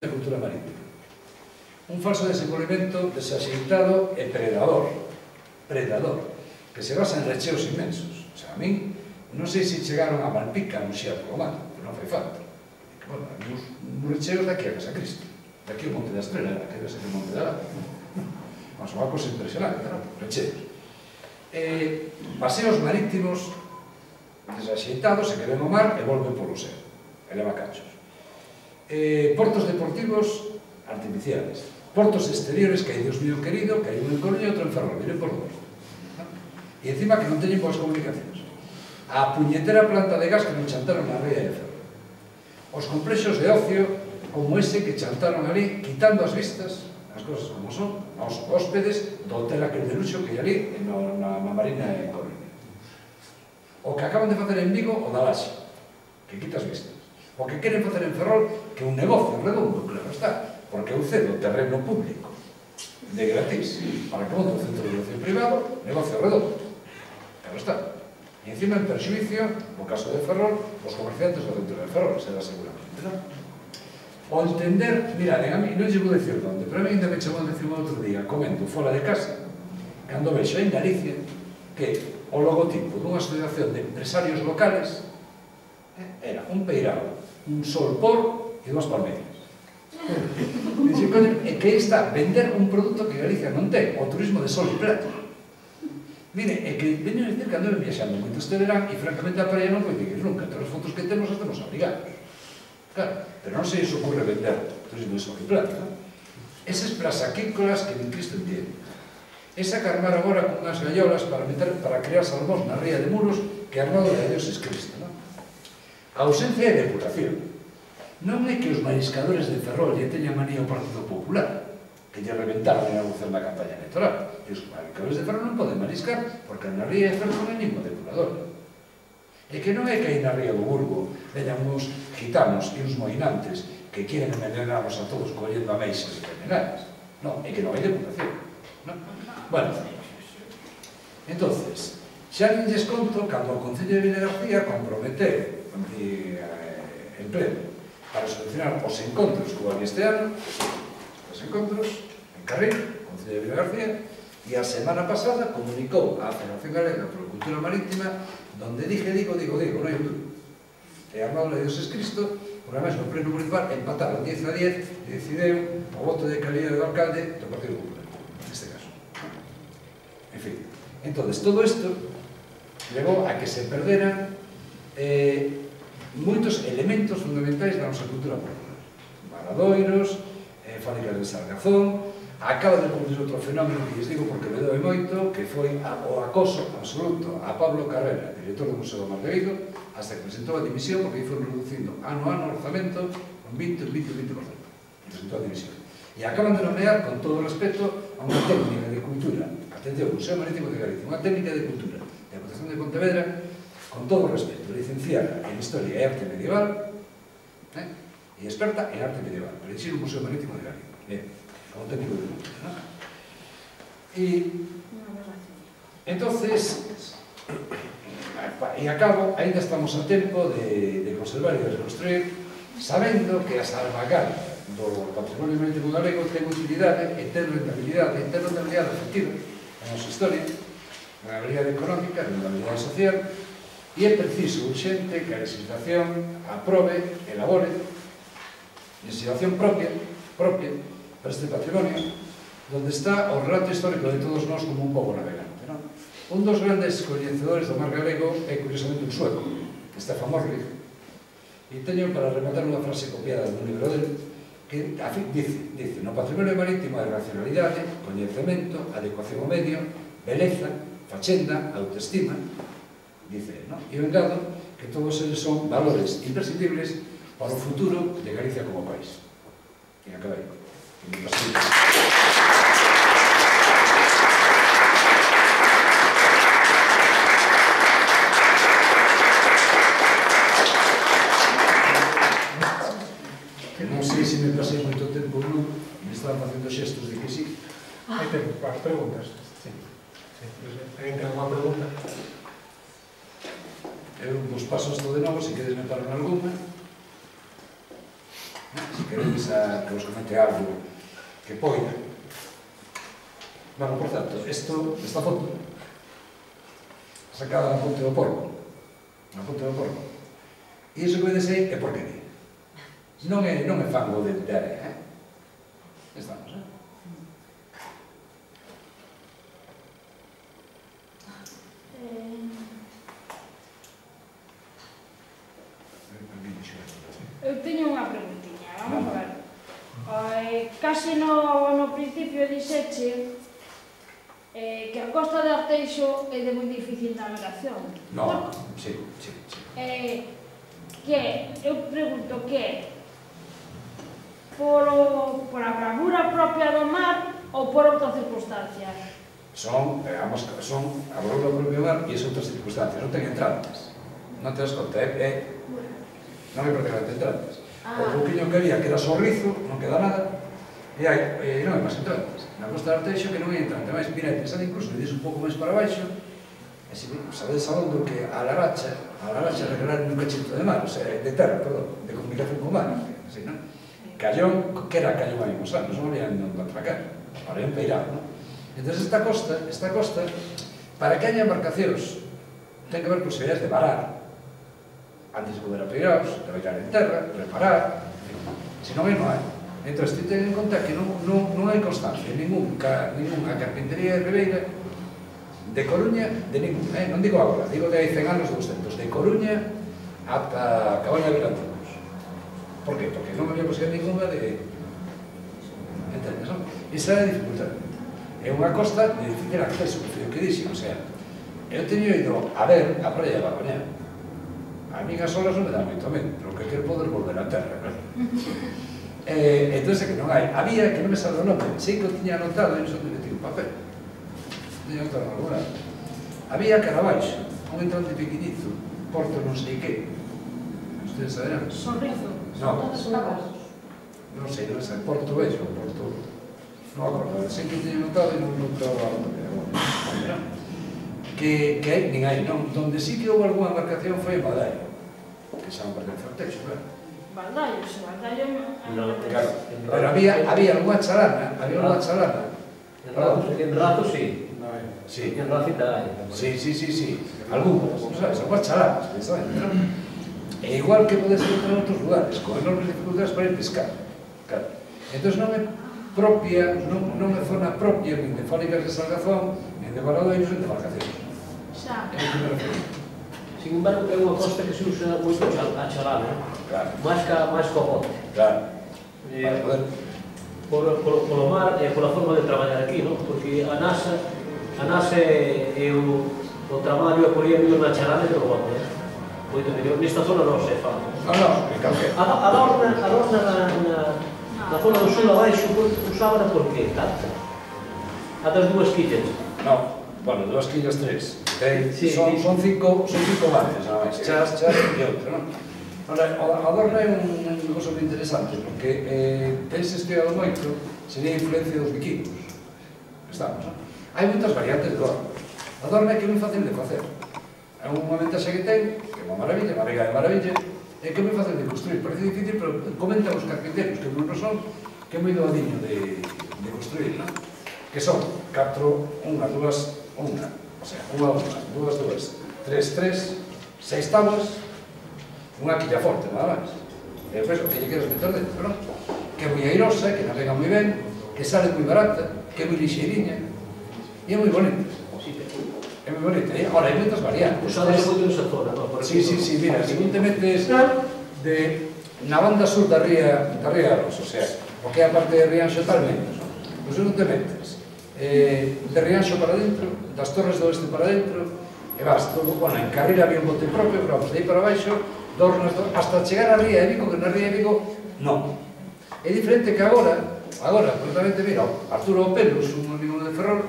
a cultura marítima. Un falso desenvolvemento desaxeitado e predador, que se basa en recheos inmensos. O sea, a min, non sei se chegaron a Malpica, non xea polo mar, pero non fai falta. Bueno, hai uns recheos daqui a Casa Cristo, daqui ao Monte da Estrela, daqui a o Monte da Lata. Mas unha cosa impresionante, non? Recheos. Paseos marítimos desaxeitados e que ven o mar e volven polo céu, e leva cachos. Portos deportivos artificiales, portos exteriores que hai, Dios mío querido, que hai un en Coruña e outro en Ferrol, miren por dos. E encima que non teñen boas comunicacións. A puñetera planta de gas que non chantaron na ría de Ferrol. Os complexos de ocio como ese que chantaron ali, quitando as vistas, as cosas como son, aos hóspedes do hotel aquel de luxo que hai ali na Marina de Coruña. O que acaban de facer en Vigo, o da Laxe, que quita as vistas. O que queren facer en Ferrol, que é un negocio redondo, claro está, porque eu cedo terreno público de gratis para que monte un centro de ocio privado, negocio redondo, claro está. E encima en perxuicio, no caso de Ferrol, os comerciantes do centro de Ferrol, se da seguramente, non? O entender, mirade, a mí non lle vou dicir onde, pero a mí ainda me chamou a atención outro día, comento fora de casa, cando vexo en Galicia que o logotipo dunha asociación de empresarios locales era un peirao, un solpor e dúas palmeiras. E que está vender un produto que Galicia non ten, o turismo de sol e plata. Mire, é que veño a dicir que ando viaxando moito este verán e francamente a parella non coincidir nunca, todas as fotos que temos estamos obrigados. Claro, pero non se iso ocurre vender turismo de sol e plata. Eses plasaquícolas que nin Cristo entiende. Esa carmar agora con unhas gallolas para crear salmóns na ría de Muros que Arnaldo de Dios es Cristo, non? A ausencia de depuración. Non é que os mariscadores de Ferrol lle teñan manía ao Partido Popular, que lle reventaron en algún na campaña electoral. E os mariscadores de Ferrol non poden mariscar, porque na ría de Ferrol non hai ningún depurador. E que non é que aí na ría do Burgo veñan uns gitanos e uns moinantes que quieren envenenarnos a todos collendo ameixas e envenenadas. Non, é que non hai depuración. Bueno, entonces, xa nin lles conto cando o Concello de Vilagarcía comprometeu en pleno para solucionar os encontros que houve este ano, os encontros en Carril, Concello de Vilagarcía, e a semana pasada comunicou á Federación Galega por Cultura Marítima donde digo, non hai dúbida. E Arnaldo de Dios es Cristo, por además no pleno municipal empataron 10-10 e decideu o voto de calidad do alcalde do Partido Popular, neste caso. En fin, entonces todo isto levou a que se perderan moitos elementos fundamentais da nosa cultura popular. Valadoiros, fábricas de Sargazón, acaba de producir outro fenómeno que lles digo porque me doe moito, que foi o acoso absoluto a Pablo Carrera, director do Museo do Mar de Vigo, hasta que presentou a dimisión porque aí foron reducindo ano a ano o orzamento con 20%. Presentou a dimisión. E acaban de nomear, con todo o respeto, a unha técnica de cultura, atención, Museo Marítimo de Galicia, unha técnica de cultura de Deputación de Pontevedra, con todo o respeto, licenciada en Historia e Arte Medieval e experta en Arte Medieval, para dirixir o Museo Marítimo de Galicia, como técnico de cultura, non? E entonces, e acabo, ainda estamos a tempo de conservar e de reconstruir, sabendo que a salvaguarda do patrimonio marítimo galego ten utilidade e ten rentabilidade efectiva na nosa historia, rentabilidade económica, rentabilidade social, e é preciso, urxente, que a legislación aprobe, elabore legislación propia para este patrimonio, donde está o relato histórico de todos nós como un pobo navegante, non? Un dos grandes coñecedores do mar galego é, curiosamente, un sueco, Stefan Morley, e teño para rematar unha frase copiada dun libro dele, que dice, no patrimonio marítimo hai racionalidade, coñecemento, adecuación ao medio, beleza, fachenda, autoestima, dice, non? E o engado que todos eles son valores imprescindibles para o futuro de Galicia como país. E acabei. Non sei se me pasei moito tempo ou non, me estaban facendo xestos de que sí. Hai tempo para as preguntas. Alguén ten unha pregunta? Eu vos paso isto de novo, se queres me parar alguna. Se queréis que os comente algo que poida. Bueno, por tanto, esta foto sacada na Ponte do Porco. Na Ponte do Porco. E iso que vedes aí é porquería. Non é fango de area, Estamos, Eu teño unha preguntiña, vamos ver. Case no principio dixeche que a costa de Arteixo é de moi difícil navegación. No, sí. Eu pregunto que por a bravura propia do mar ou por outras circunstancias? Son a bravura propia do mar e as outras circunstancias. Non ten entrantes. Non te das conta, non hai prácticamente entrantes. O pouquiño que había que era sorrizo, non queda nada, e non hai máis entrantes. Na costa de Arteixo que non hai entrante, máis mirete, sale incluso, le dis un pouco máis para baixo, e se sabedes a onde que a Laracha regalaron un cachito de mar, o sea, de terra, perdón, de comunicación con mar, así, non? Callón, que era Callón hai uns anos, non había non atracar, ahora é un peirado, non? Entón, esta costa, para que haya embarcacións, ten que ver con posibilidades de varar, antes de poder a peiraos, de bailar en terra, reparar, se non hai. Entón, ten en conta que non hai constancia, ninguna carpintería de Ribeira, de Coruña, de ningún, non digo agora, digo de hai 100 anos, 200, de Coruña ata Cabaña de Vilantovos. Por que? Porque non había posibilidad ninguna de... Entendes, non? Esa é a dificultade. É unha costa de difícil acceso, que dixen, o sea, eu teño ido a ver a praia de Barbañá. A mí as olas non me dá moito medo, pero que quero poder volver á terra, claro. Entón, é que non hai. Había, que non me salve o nome, sei que o tiña anotado, e non sei onde metí un papel. Tiña anotado en algún lado. Había cara abaixo, un entrante pequenito, Porto non sei que. Ustedes saberán. Sorrizo. Non. Non sei, Porto Bello, Porto... Non acordo, sei que tiña anotado e non estaba a nome. Que hai, nin hai, non. Donde sí que houve algunha embarcación foi en Badaio, que xa non pertence ao Texo, claro. Badaio. Claro, pero había algunha chalana, En Rato, sí. Sí. En Racita hai. Sí. Algúnas, non sabes, algunhas chalanas, sabes? E igual que pode ser en outros lugares, con enormes dificultades para ir pescar. Claro. Entón non é propia, non é zona propia, nin de fábricas de salgazón, nin de baladoiros, nin de embarcacións. Xa. É o que me refiro. Sin embargo, é unha costa que se usa moito a chalana, Claro. máis co bote. Claro. Para poder... Polo mar e pola forma de traballar aquí, non? Porque a NASA é o traballo é por ir mellor na chalana que no bote. Moito mellor. Nesta zona non se fa. Non, en calquera. A lorna na zona do sul abaixo usaba por que? A das dúas quillas. Non, bueno, 2 quillas 3. Son 5 bares, nada máis. Chas e outra, non? A Dorna é un cosa moi interesante, porque tense estudiado moito, sería a influencia dos vikingos. Estamos, non? Hai moitas variantes de Dorna. A Dorna é que é moi fácil de facer. É unha ventaxa que ten, que é unha maravilla, unha vega de maravilla, é que é moi fácil de construir. Parece difícil, pero comentan os carpinteros, que non son, que é moi doadiño de construir, non? Que son 4, 1, 2, 1, o sea, 1, 2, 3, 6 tablas, unha quilla forte, nada máis. E depois, o que lle queres meter dentro, non? Que é moi airosa, que navega moi ben, que sale moi barata, que é moi lixeiriña, e é moi bonita. É moi bonita. Ora, hai moitas variantes. Usades moito nesa zona, non? Sí, mira, según te metes na banda sur da ría Aros, o sea, o que é a parte de Rianxo tal menos, non? Pois non te metes de Rianxo para dentro, das Torres do Oeste para dentro, e vas todo, bueno, en Carril había un bote propio, pero vamos, de aí para baixo, hasta chegar a Ría de Vigo, que na Ría de Vigo, non. É diferente que agora, completamente, mira, Arturo Pelos, un amigo de Ferrol,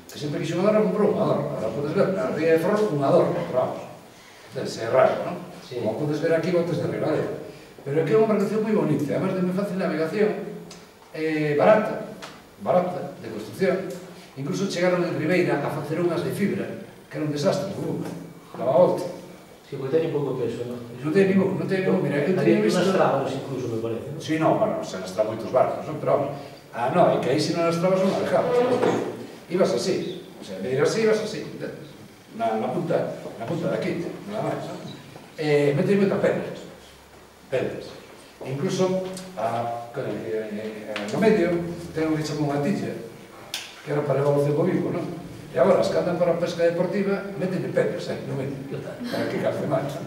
que sempre quixo unha Dorna, comprou unha Dorna. Agora podes ver, na Ría de Ferrol, unha Dorna, pero vamos, é raro, non? Como podes ver aquí, botes de Ribadeo. Pero aquí é unha embarcación moi bonita, además de moi fácil navegación, barata, de construcción. Incluso chegaron en Ribeira a facer unhas de fibra, que era un desastre, lava volta. Sí, porque teñen pouco peso, non? Non ten ningún, mira, eu teño visto... Nas trabas incluso, me parece, non? Sí, no, bueno, se lastra moitos barcos, non? Pero, no, é que aí se non lastrabas non alejabas, porque ibas así, o sea, de ir así, ibas así, na punta de aquí, nada máis, non? Metes moita pedras. Incluso, no medio, ten un que chama unha tilla, que era para levar o cebo vivo, non? E agora, as que andan para a pesca deportiva, meten pedras, no medio, para que calce máis, non?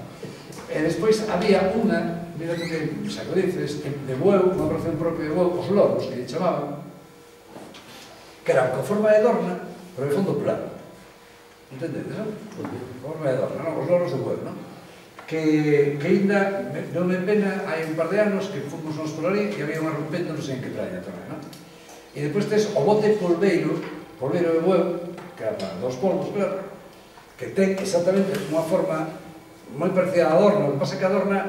E despois había unha, mira que xa que dices, de bueu, unha ración propia de bueu, os loros, que lle chamaban, que eran con forma de dorna, pero de fondo plano. Entendedes, non? Forma de dorna, non? Os loros de bueu, non? Que ainda, non me pena, hai un par de anos que fomos nos por ali e había unha rompente, non sei en que praia tamén, non? E depois tes o bote polveiro de bueu, que era para dos polvos, claro, que ten exactamente unha forma moi parecida a adorna, o que pasa é que adorna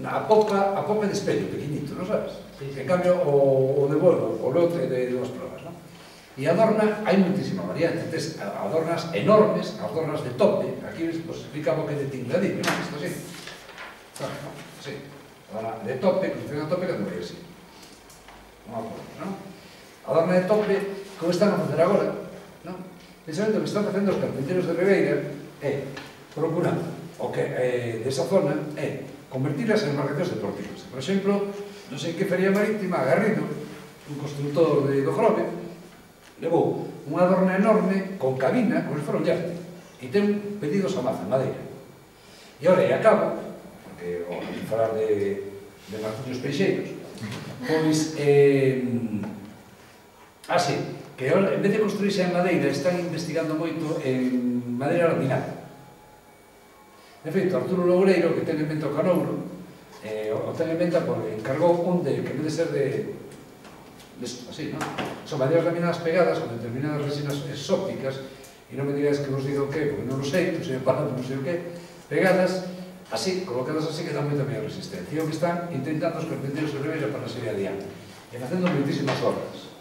a popa de espello, pequeñito, non sabes? En cambio, o de bueu, o lote de dúas probas, non? E adorna, hai moitísima variante, tes adornas enormes, adornas de tope, aquí explicamos que de tingladillo, non? Isto así. Sí, adorna de tope, que funciona de tope, que vai así. Unha forma, non? Adorna de tope, como están a facer agora, non? Precisamente o que están facendo os carpinteiros de Ribeira é procurando o que desa zona é convertirlas en embarcacións deportivas. Por exemplo, non sei que feria marítima, Garrido, un constructor do Grove, levou unha adorna enorme con cabina, como se fora un yate, e ten pedidos a maza, en madeira. E ora, e acabo, porque ao falar de martillos peixeiros, pois, así, que en vez de construirse en madeira, están investigando moito en madeira laminada. De feito, Arturo Loureiro, que ten en mente o Canouro, o ten en mente porque encargou un que en vez de ser de así, non? Son madeiras laminadas pegadas con determinadas resinas exóticas, e non me digáis que vos digo o que, porque non o sei, non sei falando, non sei o que, pegadas así, colocadas así, que dan moita mellor resistencia. E o que están intentando os carpinteiros de Ribeira para seguir adiante, e facendo moitísimas obras.